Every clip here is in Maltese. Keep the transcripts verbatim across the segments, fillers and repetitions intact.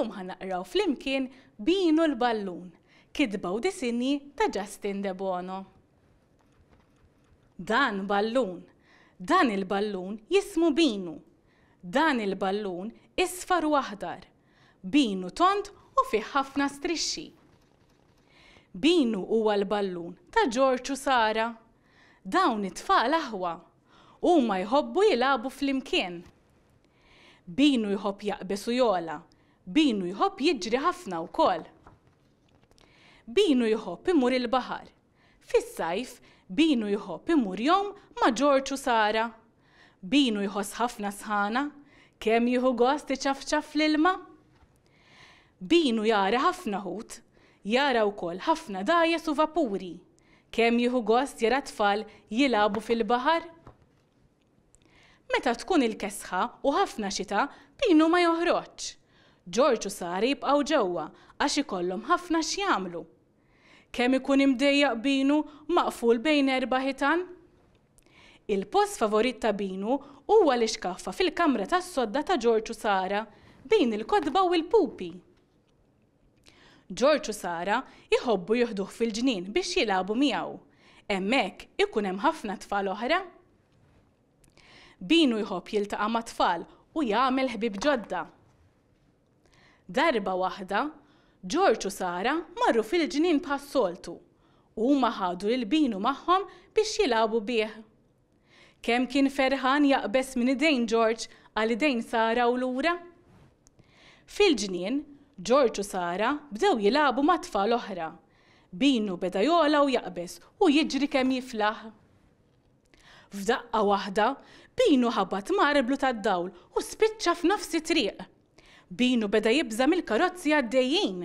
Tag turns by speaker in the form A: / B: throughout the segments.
A: Illum ħa naqraw flimkien Binu l-Ballun, kitba u disinji ta' Justin Debono. Dan ballun. Dan il-ballun jismu Binu. Dan il-ballun isfar u aħdar. Binu tond u fih ħafna strixxi. Binu huwa l-ballun ta' Ġorġ u Sara. Dawn it-tfal aħwa. Huma jħobbu jilagħbu flimkien. Binu jħobb jaqbeż u jogħla. Binu jħobb jiġri ħafna wkoll. Binu jħobb imur il-baħar. Fis-sajf, Binu jħobb imur jgħum ma' Ġorġ u Sara. Binu jħoss ħafna sħana. Kemm jieħu gost iċafċaf fl-ilma! Binu jara ħafna ħut. Jara wkoll ħafna dgħajjes u vapuri. Kemm jieħu gost jara tfal jilagħbu fil-baħar! Meta tkun il-kesħa u ħafna xita, Binu ma joħroġx. Ġorġ u Sara jibqgħu ġewwa għax ikollhom ħafna x'jagħmlu. Kemm ikun imdejjaq Binu maqful bejn erba' ħitan! Il-post favorit ta' Binu huwa l-ixkaffa fil-kamra tas-sodda ta' Ġorġ u Sara, bejn il-kotba u l-pupi. Ġorġ u Sara jħobbu jieħduh fil-ġnien biex jilagħbu miegħu. Hemmhekk ikun hemm ħafna tfal oħra. Binu jħobb jiltaqa' mat-tfal u jagħmel ħbieb ġodda. Darba waħda, Ġorġ u Sara marru fil-ġnien bħas-soltu. Huma ħadu lil Binu magħhom biex jilagħbu bih. Kemm kien ferħan jaqbeż minn idejn Ġorġ għal idejn Sara u lura! Fil-ġnien, Ġorġ u Sara bdew jilagħbu ma' tfal oħra. Binu beda jogħla u jaqbeż u jiġri kemm jiflaħ. F'daqqa waħda, Binu ħabat ma' arblu tad-dawl u spiċċa f'nofs it-triq. Binu beda jibża' mill-karozzi għaddejjin.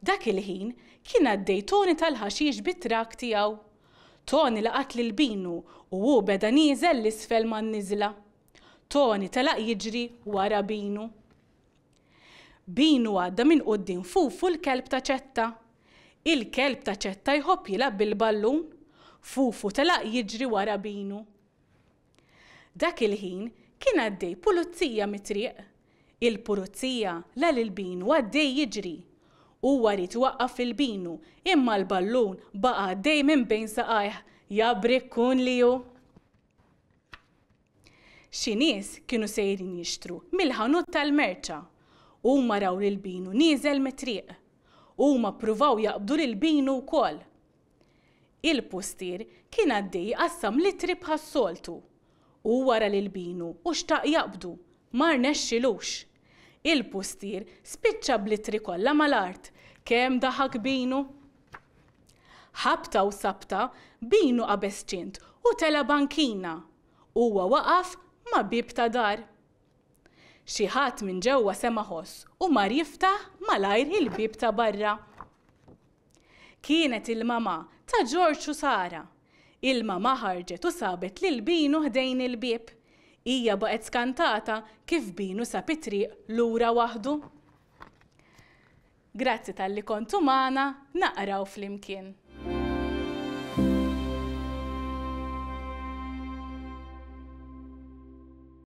A: Dak il-ħin kien għaddej Toni tal-ħaxix bit-trakk tiegħu. Toni laqat lil Binu u hu beda nieżel 'l isfel man-niżla. Toni telaq jiġri wara Binu. Binu għadda minn quddiem Fufu l-kelb ta' Ċetta. Il-kelb ta' Ċetta jħobb jilgħab bil-ballun. Fufu telaq jiġri wara Binu. Dak il-ħin kien għaddej pulizija mit-triq. Il-pulizija la lil Binu għaddej jiġri. Huwa ried iwaqqaf lil Binu imma l-ballun baqa' għaddej minn bejn saqajh, ja brikkun li hu. Xi nies kienu sejrin jixtru mill-ħanut tal-merċa. Huma raw lil Binu nieżel mit-triq. Huma ppruvaw jaqbdu lil Binu wkoll. Il-pustier kien għaddej iqassam l-ittri bħas-soltu. Huwa ra lil Binu u xtaq jaqbdu, ma rnexxilux. Il-pustier spiċċa bl-ittri kollha mal-art. Kemm daħak Binu! Ħabta u sabta, Binu qabeż ċint u tela' bankina. Huwa waqaf ma' bieb ta' dar. Xi ħadd minn ġewwa sema' ħoss u mar jiftaħ malajr il-bieb ta' barra. Kienet il-mamà ta' Ġorġ u Sara. Il-mamà ħarġet u sabet lil Binu ħdejn il-bieb. Hija baqgħet skantata kif Binu sab it-triq lura waħdu. Grazzi talli kontu magħna naqraw flimkien.